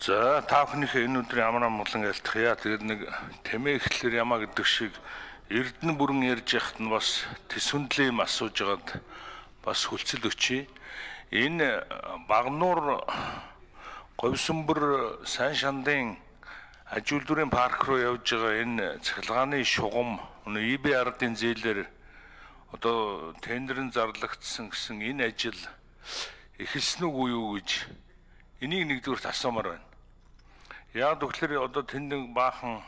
За та бүхнийхээ энэ өдрийн амар амгалан айлтгая. Тэгээд нэг тэмээ ихлээр ямаа гэдэг шиг эрдэнэ бүрэн ярьж яхад нь бас төсвөндлээ юм асууж байгаад бас хүлцэл өчье. Энэ Багнуур Говьсөнбөр сайн шандын ажилдварын парк руу явж байгаа энэ цахилгааны шугам ИБ-ардын зээлээр одоо тендерын зарлагдсан гэсэн энэ ажил эхэлсэн үгүй юу гэж энийг нэгдүгээр асуумаар байна. Яг тэгэхээр одоо тэнд баахан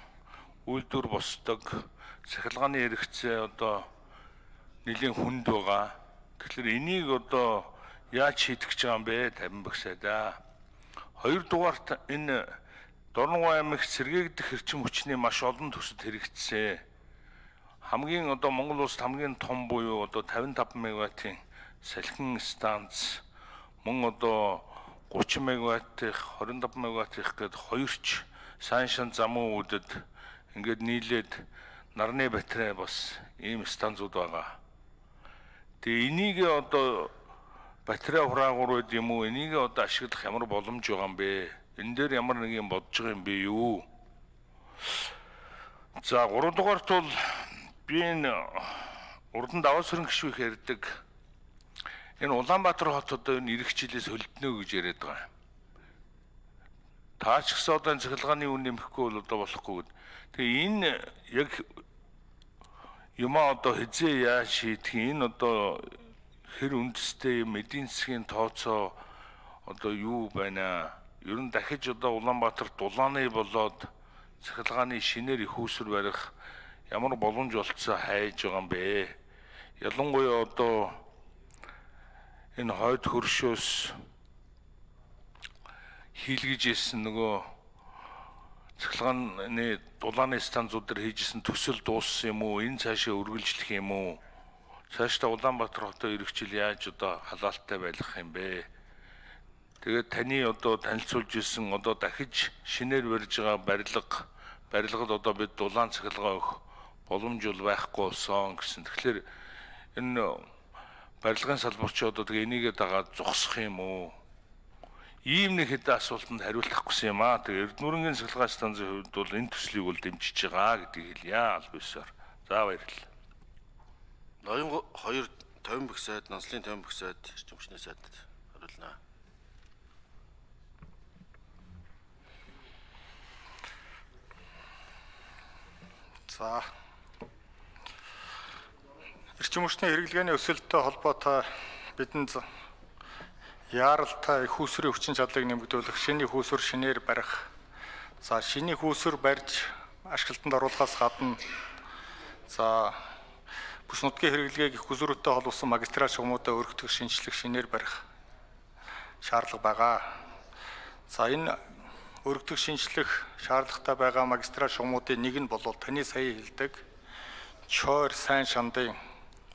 үйлдвэр босдог цахилгааны хэрэгцээ одоо нэлийн хүнд байгаа. Тэгэхээр энийг одоо яаж шийдэх гэж байгаа юм бэ? Тавин багсайдаа. Хоёрдугаарт энэ Дорногов аймагт сэргээгдэх эрчим хүчний маш олон төсөд хэрэгжсэн. Хамгийн одоо Монгол улсад хамгийн том буюу одоо 55 мегаваттын салхин станц мөн одоо 30 мегаваттын 25 мегаваттын гээд хоёрч сайн шан замун үүдэд ингээд нийлээд нарны батарей бас ийм станцууд байгаа. Тэгээ энийг одоо батарей хураагур байд юм уу? Энийг одоо ашиглах ямар боломж байгаа юм бэ? Энэ дээр ямар нэг юм бодож байгаа юм бэ юу? За 3 дугаарт бол би энэ урдан даваа сөрөн гişвэх ярьдаг. Энэ Улаанбаатар хот одоо энэ ирэх жилээс хөлднө гэж яриад байгаа. Таач гэсэн одоо цахилгааны үн нэмэхгүй бол одоо болохгүй. Тэгээ энэ яг юмаа одоо хизээ яаж шийдэх энэ одоо хэр үндэстэй эдийн засгийн тооцоо одоо юу байна? Ер нь дахиж одоо Улаанбаатар дулааны болоод цахилгааны шинээр их усүр барих ямар боломж олцоо хайж байгаа юм бэ? Ялангуяа одоо энэ хойд хөршөөс хийлгэж ирсэн нөгөө цахилгааны дулааны станцууд дээр хийжсэн төсөл дууссан юм уу? Энэ цаашаа үргэлжлэх юм уу? Цаашдаа Улаанбаатар хотоо ирэх жил яаж одоо халаалтай байх юм бэ? Тэгээд таны одоо танилцуулж ирсэн одоо дахиж шинээр барьж байгаа барилгад одоо бид дулаан цахилгаан өгөх боломж бол байхгүй болсон гэсэн. Тэгэхээр энэ барилгын салбарч одоо тэгээ энийгээ дагаад зогсох юм уу? Ийм нэг хэдэн асуултанд хариулт авахгүйсэн юм аа. Тэгээ Эрдэнэ бүрэн цахилгаан станцын хувьд бол энэ төслийг бол дэмжиж байгаа гэдгийг хэлье албасаар. За баярлалаа. Ноён 2 50 бэх сайд, Нонслын 50 бэх сайд, эрчим хүчний сайд хариулна. За. Эрчим хүчний хэрэглгээний өсөлттэй холбоотой бидэнд яаралтай их усрын хүчин чадлыг нэмэгдүүлэх, шинэ их усүр шинээр барих. За, шинэ их усүр барьж ашиглалтанд оруулахаас гадна за бүс нутгийн хэрэглэгийг их усүртэй холбосон магистраль шугамуудаа өргөдөх шинжлэх шинээр барих шаардлага байгаа. За, энэ өргөдөх шинжлэх шаардлагатай байгаа магистраль шугамуудын нэг нь бол таны сая хэлдэг Чойр сайн шандын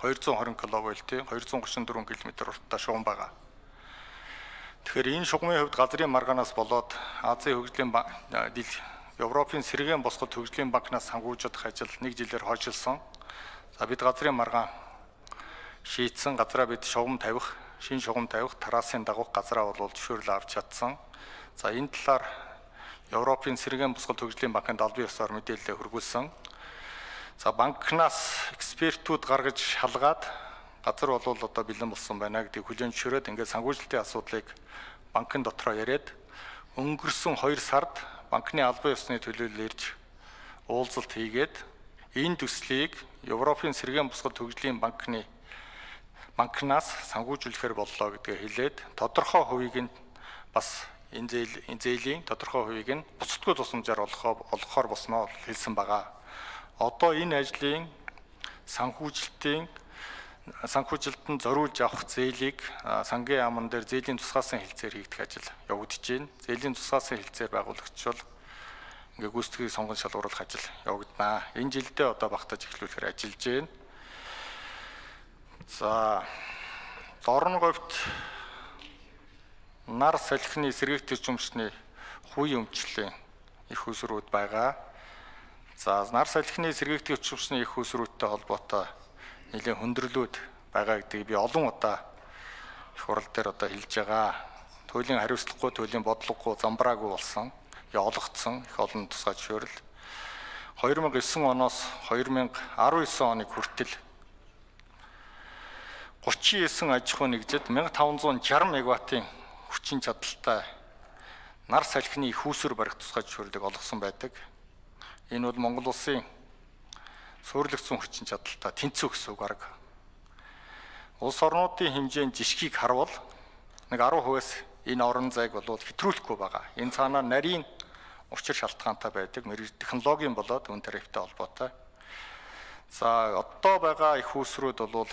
220 кВт-ийн 234 км урттай шугам байгаа. Тэгэхээр энэ шугамын хувьд газрын маргаанаас болоод Азийн хөгжлийн Европын сэргээн босгод хөгжлийн банкнаас санхүүжих ажил 1 жилээр хойшилсон. За бид газрын маргаан шийдсэн газраа бид шугам тавих, шинэ шугам тавих, тарасын дагуух газраа бол зөвшөөрөл авч чадсан. За энэ талаар Европын сэргээн босгод хөгжлийн банкнд албан ёсоор мэдээлэл хүргүүлсэн. За банкнаас экспертүүд гаргаж шалгаад газар бол одоо бэлэн болсон байна гэдгийг хүлээн зөвшөөрөөд ингээд санхүүжилтийн асуудлыг банкн дотроо яриад өнгөрсөн 2 сард банкны албан ёсны төлөөлөл ирж уулзалт хийгээд энэ төслийг Европын сэргээн босгод хөгжлийн банкнаас санхүүжүүлэхээр боллоо гэдгээ хэлээд тодорхой хувийг нь бас энэ зээлийн тодорхой хувийг нь буцалтгүй тусламжаар олгохоор босноо хэлсэн байгаа. Одоо энэ ажлын санхүүжилтөнд зориулж авах зээлийг сангийн яамн дээр зээлийн тусгаасан хэлцээр хийгдэх ажил явагдаж байна. Зээлийн тусгаасан хэлцээр байгуулагчвал ингээ гүйцэтгэлийг сонгон шалгуулах ажил явагдана. Энэ жилдээ одоо багтаж эхлүүлэхээр ажиллаж байна. За Дорноговьт нар салхины сэргээгт эрчимчний хувийн өмчлөлийн их усрууд байгаа. За нар салхины сэргээгт эрчимчний их усруудтай холбоотой нэлээд хөндөрлүүд байгаа гэдгийг би олон удаа их хурал дээр одоо хэлж байгаа. туйлын хариуцлагагүй, туйлын бодлогогүй, замбраагүй болсон, олгогдсон их олон тусгай зөвшөөрөл 2009 оноос 2019 оны хүртэл 39 аж ахуй нэгжид 1560 мегаваттын хүчин чадалтай нар салхины их үүсвэр барих тусгай зөвшөөрлийг олгосон байдаг. Энэ бол Монгол улсын суурилгацсан хүчин чадалтай тэнцүү гэсэн үг арга. Улс орнуудын хэмжээнд жишгийг харвал нэг 10%-аас энэ орон зайг бол хэтрүүлэхгүй байгаа. Энэ цаанаа нарийн учир шалтгаантай байдаг, мэрэгжил технологийн болоод үн тарифтай холбоотой. За одоо байгаа их үүсвэрүүд бол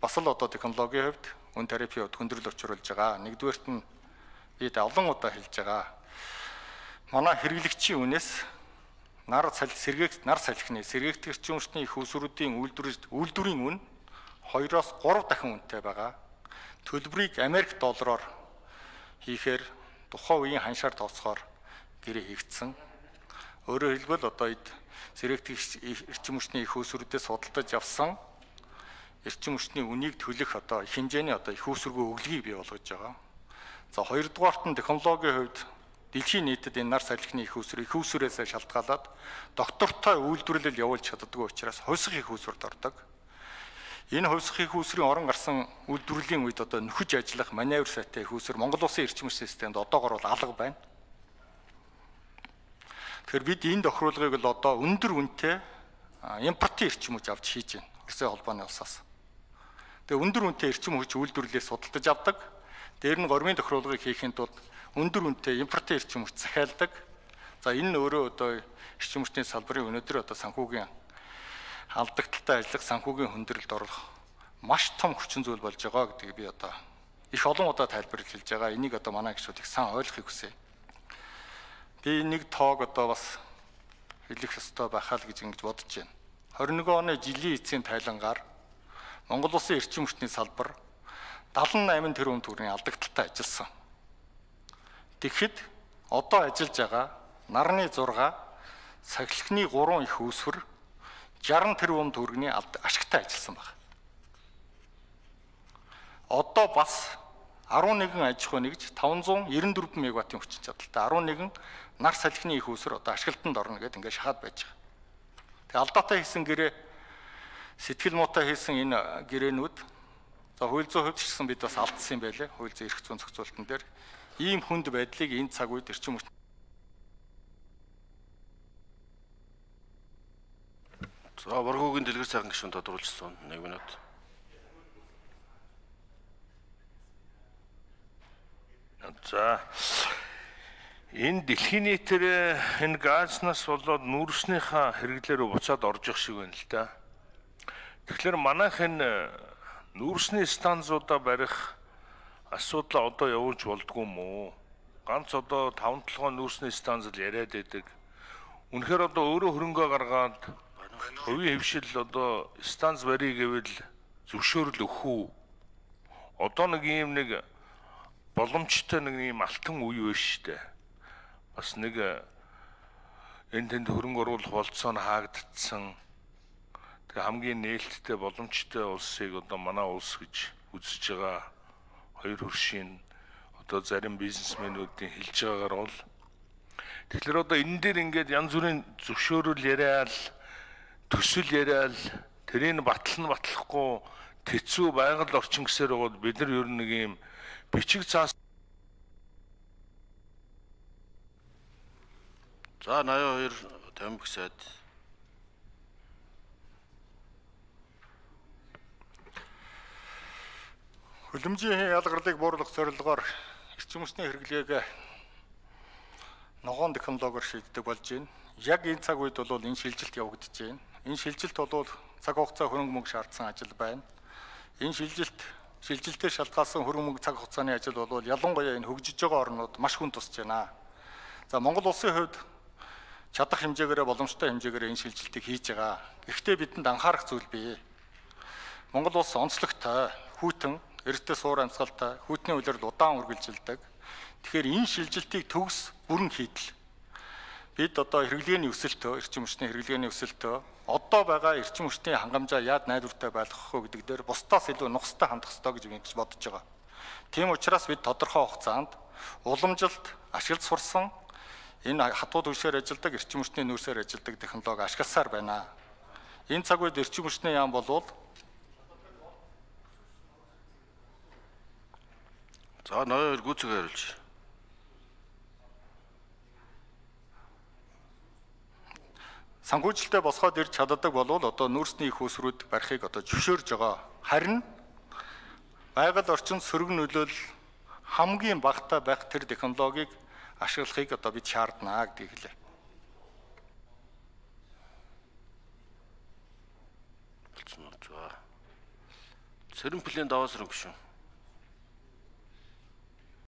бас л одоо технологийн хувьд үн тарифын хувьд хүндрэл учруулж байгаа. Нэгдүгээрт нь бид олон удаа хэлж байгаа. Манай хэрэглэгчийн үнээс нар салхины сэргээгдэх эрчим хүчний их үүсвэрүүдийн үйлдвэрийн үн 2-оос 3 дахин үнэтэй байгаа. Төлбөрийг Америк доллараар хийхээр тухайн үеийн ханшаар тооцохоор гэрээ хийгдсэн. Өөрөөр хэлбэл одоо сэргээгдэх эрчим хүчний их үүсвэрүүдээс судалдаж авсан эрчим хүчний үнийг төлөх одоо их хэмжээний одоо их үүсвэргүй өглөгийг бий болгож байгаа. За хоёрдугаарт нь технологийн хувьд дэлхийн нийтэд энэ нар салхины их үүсвэрээс шалтгаалаад доктортой үйлдвэрлэл явуулж чаддаггүй учраас хувьсах их үүсвэрт ордог. Энэ хувьсах их үүсвэрийн орон гарсан үйлдвэрлэлийн үед одоо нөхөж ажиллах маневр сайтай их үүсвэр Монгол улсын эрчим хүч системд одоогор бол алга байна. Тэгэхээр бид энэ тохируулгыг л одоо өндөр үнэтэй импортын эрчим хүч авч хийж байна. Улсын холбооны улсаас. Тэгээ өндөр үнэтэй эрчим хүч үйлдвэрлэлээс судалдаж авдаг. Дээр нь гормын тохируулгыг хийхэд тулд өндөр үнэтэй импортын эрчим хүч захиалдаг. За энэ нь өөрөө одоо эрчим хүчний салбарын өнөөдөр одоо санхүүгийн алдагдaltaй ажиллах, санхүүгийн хүндрэлд оруулах маш том хүчин зүйл болж байгаа гэдгийг би одоо их олон удаа тайлбарлаж хэлж байгаа. Энийг одоо манай гишүүд их сайн ойлгохыг хүсье. Би нэг тоог одоо бас хэлэх ёстой байхаа л гэж ингэж бодож байна. 21 оны жилийн эцсийн тайлангаар Монгол улсын эрчим хүчний салбар 78 тэрбум төгрөгийн алдагдaltaй ажилласан. Тэгэхэд одоо ажиллаж байгаа нарны 6, сахилхны 3 их үүсвэр 60 тэрбум төгрөгийн ашигтай ажилласан байна. Одоо бас 11 аж ахуй нэгж 594 мегаваттын хүчин чадалтай 11 нар салхины их үүсвэр одоо ашиглалтанд орно гэдээ ингээд шахаад байж байгаа. Тэгээ алдаатай хийсэн гэрээ сэтгэл муутай хийсэн энэ гэрээнүүд за хууль зүйн хувьд ч гэсэн бид бас алдсан юм байлээ. Хууль зүйн эрх зүйн зохицуулалтын дээр ийм хүнд байдлыг энэ цаг үед эрчим хүч За Боргоогийн дэлгэр сайхан гишүүн тодруулсан 1 минут. За энэ дэлхийн нийтээр энэ газнаас болоод нүүрснийхаа хэрэглээрөө буцаад орж явах шиг байна л да. Тэгэхээр манайх энэ нүүрсний станцуудаа барих асуудлаа одоо явуулж болдгоо юм уу? Ганц одоо 5-7 нүүрсний станц л яриад байдаг. Үнэхээр одоо өөрөө хөрөнгөө гаргаад хувийн хөвшил одоо станц барья гэвэл зөвшөөрөл өгөх үү? Одоо нэг ийм нэг боломжтой нэг ийм алтан үе байна шүү дээ. Бас нэг энэ тэнд хөрөнгө оруулах болцоо нь хаагдсан. Тэгээ хамгийн нээлттэй боломжтой улсыг одоо манай улс гэж үзэж байгаа хоёр хөршийн одоо зарим бизнесмэнүүдийн хэлж байгаагаар бол тэгэхээр одоо энэ дээр ингээд янз бүрийн зөвшөөрөл яриад төсөл яриад тэрийг батлахгүй тэцүү байгаль орчин гэсээр бол бид нар ер нь нэг юм бичиг цаас За 82 50 сайд хөлөмжийн ялгарлыг бууруулах зорилгоор эрчим хүчний хэрэглээг ногоон технологиор шийддэг болж байна. Яг энэ цаг үед бол энэ шилжилт явагдаж байна. Энэ шилжилт бол цаг хугацаа хөрөнгө мөнгө шаардсан ажил байна. Энэ шилжилтээр шалтгаалсан хөрөнгө мөнгө цаг хугацааны ажил бол ялангуяа энэ хөгжиж байгаа орнууд маш хүн тусч байна. За Монгол улсын хувьд чадах хэмжээгээр боломжтой хэмжээгээр энэ шилжилтийг хийж байгаа. Гэхдээ бидэнд анхаарах зүйл бий. Монгол улс онцлогтой, хүйтэн, эртний суур амьсгалтай, хүйтний улирал удаан үргэлжилдэг. Тэгэхээр энэ шилжилтийг төгс бүрэн хийдэл. Бид одоо хэрэглээний өсөлтөө, эрчим хүчний хэрэглээний өсөлтөө одоо байгаа эрчим хүчний хангамжаа яад найдвартай байлгах вэ гэдэг дээр бусдаас илүү нухастай хандах ёстой гэж би бодож байгаа. Тийм учраас бид тодорхой хугацаанд уламжилт ашиглаж сурсан энэ хатууд үеэр ажилладаг, эрчим хүчний нөөцөөр ажилладаг технологи ашигласаар байна. Энэ цаг үед эрчим хүчний яам болвол За ноён гүцэг хариулж. санхүүжилтээ босгоод ирж чаддаг болвол одоо нүүрсний их усрууд барихыг одоо зөвшөөрж байгаа. Харин байгаль орчин сөрөг нөлөөлөл хамгийн багтаа байх тэр технологиг ашиглахыг одоо бид шаарднаа гэдгийг хэлээ. За. Сэрэн плен даваа сэрэн биш үү?